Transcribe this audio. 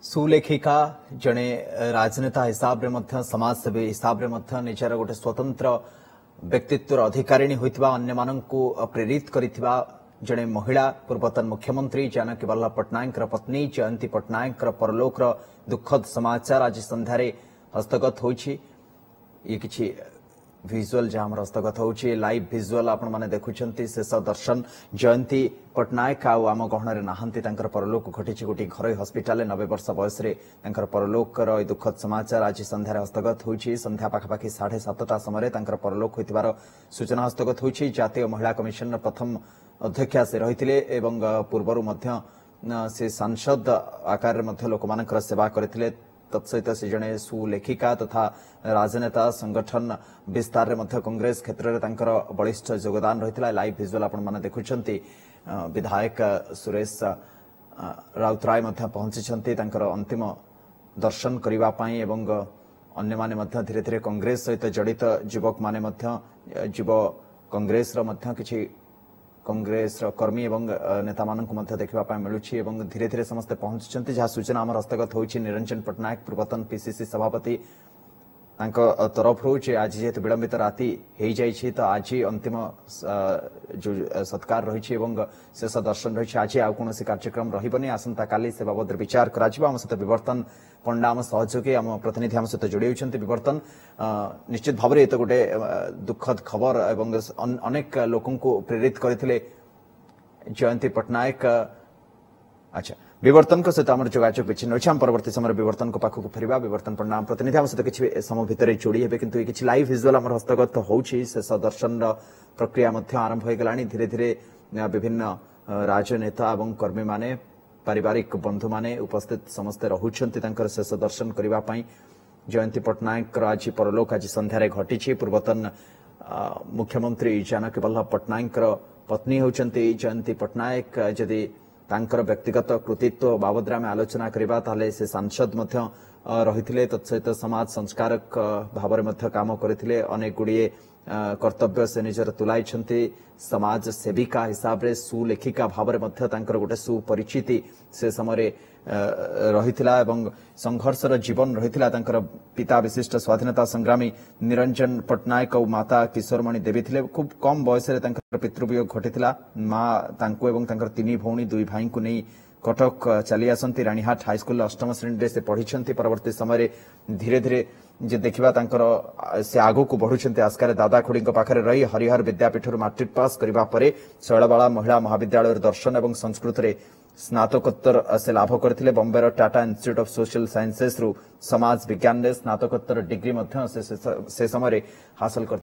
ସୁଲେଖିକା, ଜଣେ ରାଜନେତା ହିସାବରେ ମଧ୍ୟ, ସମାଜସେବୀ ହିସାବରେ ମଧ୍ୟ ନିଜର ଗୋଟେ ସ୍ୱତନ୍ତ୍ର ବ୍ୟକ୍ତିତ୍ୱର ଅଧିକାରିଣୀ ହୋଇଥିବା, ଅନ୍ୟମାନଙ୍କୁ ପ୍ରେରିତ କରିଥିବା ଜଣେ ମହିଳା, ପୂର୍ବତନ ମୁଖ୍ୟମନ୍ତ୍ରୀ ଜାନକୀ ବଲ୍ଲଭ ପଟ୍ଟନାୟକଙ୍କର ପତ୍ନୀ ଜୟନ୍ତୀ ପଟ୍ଟନାୟକଙ୍କର ପରଲୋକର ଦୁଃଖଦ ସମାଚାର ଆଜି ସନ୍ଧ୍ୟାରେ ହସ୍ତଗତ ହୋଇଛି। ଇଏ କିଛି ଭିଜୁଆଲ ଯାହା ଆମର ହସ୍ତଗତ ହେଉଛି, ଲାଇଭ୍ ଭିଜୁଆଲ ଆପଣମାନେ ଦେଖୁଛନ୍ତି। ଶେଷ ଦର୍ଶନ, ଜୟନ୍ତୀ ପଟ୍ଟନାୟକ ଆଉ ଆମ ଗହଣରେ ନାହାନ୍ତି। ତାଙ୍କର ପରଲୋକ ଘଟିଛି ଗୋଟିଏ ଘରୋଇ ହସ୍ପିଟାଲରେ। 90 ବର୍ଷ ବୟସରେ ତାଙ୍କର ପରଲୋକର ଏହି ଦୁଃଖଦ ସମାଚାର ଆଜି ସନ୍ଧ୍ୟାରେ ହସ୍ତଗତ ହୋଇଛି। ସନ୍ଧ୍ୟା ପାଖାପାଖି 7:30 ସମୟରେ ତାଙ୍କର ପରଲୋକ ହୋଇଥିବାର ସୂଚନା ହସ୍ତଗତ ହୋଇଛି। ଜାତୀୟ ମହିଳା କମିଶନର ପ୍ରଥମ ଅଧ୍ୟକ୍ଷା ସେ ରହିଥିଲେ ଏବଂ ପୂର୍ବରୁ ମଧ୍ୟ ସେ ସାଂସଦ ଆକାରରେ ମଧ୍ୟ ଲୋକମାନଙ୍କର ସେବା କରିଥିଲେ। ତତ୍ସହିତ ସେ ଜଣେ ସୁଲେଖିକା ତଥା ରାଜନେତା, ସଂଗଠନ ବିସ୍ତାରରେ ମଧ୍ୟ କଂଗ୍ରେସ କ୍ଷେତ୍ରରେ ତାଙ୍କର ବଳିଷ୍ଠ ଯୋଗଦାନ ରହିଥିଲା। ଲାଇଭ୍ ଭିଜୁଆଲ ଆପଣମାନେ ଦେଖୁଛନ୍ତି। ବିଧାୟକ ସୁରେଶ ରାଉତରାୟ ମଧ୍ୟ ପହଞ୍ଚିଛନ୍ତି ତାଙ୍କର ଅନ୍ତିମ ଦର୍ଶନ କରିବା ପାଇଁ ଏବଂ ଅନ୍ୟମାନେ ମଧ୍ୟ ଧୀରେ ଧୀରେ କଂଗ୍ରେସ ସହିତ ଜଡ଼ିତ ଯୁବକମାନେ ମଧ୍ୟ, ଯୁବ କଂଗ୍ରେସର ମଧ୍ୟ କିଛି କଂଗ୍ରେସର କର୍ମୀ ଏବଂ ନେତାମାନଙ୍କୁ ମଧ୍ୟ ଦେଖିବା ପାଇଁ ମିଳୁଛି ଏବଂ ଧୀରେ ଧୀରେ ସମସ୍ତେ ପହଞ୍ଚୁଛନ୍ତି। ଯାହା ସୂଚନା ଆମର ହସ୍ତଗତ ହୋଇଛି ନିରଞ୍ଜନ ପଟ୍ଟନାୟକ, ପୂର୍ବତନ ପିସିସି ସଭାପତି, ତାଙ୍କ ତରଫରୁ ଯେ ଆଜି ଯେହେତୁ ବିଳମ୍ବିତ ରାତି ହେଇଯାଇଛି, ତ ଆଜି ଅନ୍ତିମ ଯୋଉ ସତ୍କାର ରହିଛି ଏବଂ ଶେଷ ଦର୍ଶନ ରହିଛି, ଆଜି ଆଉ କୌଣସି କାର୍ଯ୍ୟକ୍ରମ ରହିବନି। ଆସନ୍ତାକାଲି ସେ ବାବଦରେ ବିଚାର କରାଯିବ। ଆମ ସହିତ ବିବର୍ତ୍ତନ ପଣ୍ଡା, ଆମ ସହଯୋଗୀ, ଆମ ପ୍ରତିନିଧି ଆମ ସହିତ ଯୋଡ଼ି ହେଉଛନ୍ତି। ବିବର୍ତ୍ତନ, ନିଶ୍ଚିତ ଭାବରେ ଏ ତ ଗୋଟେ ଦୁଃଖଦ ଖବର ଏବଂ ଅନେକ ଲୋକଙ୍କୁ ପ୍ରେରିତ କରିଥିଲେ ଜୟନ୍ତୀ ପଟ୍ଟନାୟକ। ଆଚ୍ଛା, ବିବର୍ତ୍ତନଙ୍କ ସହିତ ଆମର ଯୋଗାଯୋଗ ବିଚ୍ଛିନ୍ନ ଅଛି। ଆମ ପରବର୍ତ୍ତୀ ସମୟରେ ବିବର୍ତ୍ତନଙ୍କ ପାଖକୁ ଫେରିବା। ବିବର୍ତ୍ତନ ପଣ୍ଡା, ଆମ ପ୍ରତିନିଧି, ଆମ ସହିତ କିଛି ସମୟ ଭିତରେ ଯୋଡ଼ି ହେବେ। କିନ୍ତୁ କିଛି ଲାଇଭ୍ ଭିଜୁଆଲ ଆମର ହସ୍ତଗତ ହେଉଛି। ଶେଷ ଦର୍ଶନର ପ୍ରକ୍ରିୟା ମଧ୍ୟ ଆରମ୍ଭ ହୋଇଗଲାଣି। ଧୀରେ ଧୀରେ ବିଭିନ୍ନ ରାଜନେତା ଏବଂ କର୍ମୀମାନେ, ପାରିବାରିକ ବନ୍ଧୁମାନେ ଉପସ୍ଥିତ ସମସ୍ତେ ରହୁଛନ୍ତି ତାଙ୍କର ଶେଷ ଦର୍ଶନ କରିବା ପାଇଁ। ଜୟନ୍ତୀ ପଟ୍ଟନାୟକଙ୍କର ଆଜି ପରଲୋକ ଆଜି ସନ୍ଧ୍ୟାରେ ଘଟିଛି। ପୂର୍ବତନ ମୁଖ୍ୟମନ୍ତ୍ରୀ ଜାନକୀ ବଲ୍ଲଭ ପଟ୍ଟନାୟକଙ୍କର ପତ୍ନୀ ହେଉଛନ୍ତି ଜୟନ୍ତୀ ପଟ୍ଟନାୟକ। ଯଦି ତାଙ୍କର ବ୍ୟକ୍ତିଗତ କୃତିତ୍ୱ ବାବଦରେ ଆମେ ଆଲୋଚନା କରିବା, ତାହେଲେ ସେ ସାଂସଦ ମଧ୍ୟ ରହିଥିଲେ, ତତ୍ସହିତ ସମାଜ ସଂସ୍କାରକ ଭାବରେ ମଧ୍ୟ କାମ କରିଥିଲେ। ଅନେକ ଗୁଡ଼ିଏ କର୍ତ୍ତବ୍ୟ ସେ ନିଜର ତୁଲାଇଛନ୍ତି। ସମାଜ ସେବିକା ହିସାବରେ, ସୁଲେଖିକା ଭାବରେ ମଧ୍ୟ ତାଙ୍କର ଗୋଟେ ସୁପରିଚିତି ସେ ସମୟରେ ରହିଥିଲା ଏବଂ ସଂଘର୍ଷର ଜୀବନ ରହିଥିଲା ତାଙ୍କର। ପିତା ବିଶିଷ୍ଟ ସ୍ୱାଧୀନତା ସଂଗ୍ରାମୀ ନିରଞ୍ଜନ ପଟ୍ଟନାୟକ ଆଉ ମାତା କିଶୋରମଣି ଦେବୀ ଥିଲେ। ଖୁବ୍ କମ୍ ବୟସରେ ତାଙ୍କର ପିତୃବିୟୋଗ ଘଟିଥିଲା। ମା ତାଙ୍କୁ ଏବଂ ତାଙ୍କର 3 ଭଉଣୀ 2 ଭାଇଙ୍କୁ ନେଇ କଟକ ଚାଲି ଆସନ୍ତି। ରାଣୀହାଟ ହାଇସ୍କୁଲରେ ଅଷ୍ଟମ ଶ୍ରେଣୀରେ ସେ ପଢିଛନ୍ତି। ପରବର୍ତ୍ତୀ ସମୟରେ ଧୀରେ ଧୀରେ ଯେ ଦେଖିବା ତାଙ୍କର ସେ ଆଗକୁ ବଢୁଛନ୍ତି। ଆସ୍କାରେ ଦାଦା ଖୁଡିଙ୍କ ପାଖରେ ରହି ହରିହର ବିଦ୍ୟାପୀଠରୁ ମାଟ୍ରିକ ପାସ୍ କରିବା ପରେ ଶୈଳବାଳା ମହିଳା ମହାବିଦ୍ୟାଳୟର ଦର୍ଶନ ଏବଂ ସଂସ୍କୃତରେ ସ୍ନାତକୋତ୍ତର ସେ ଲାଭ କରିଥିଲେ। ବମ୍ବେର ଟାଟା ଇନଷ୍ଟିଚ୍ୟୁଟ୍ ଅଫ୍ ସୋସିଆଲ ସାଇନ୍ସେସରୁ ସମାଜ ବିଜ୍ଞାନରେ ସ୍ନାତକୋତ୍ତର ଡିଗ୍ରୀ ମଧ୍ୟ ସେ ସମୟରେ ହାସଲ କରିଥିଲେ।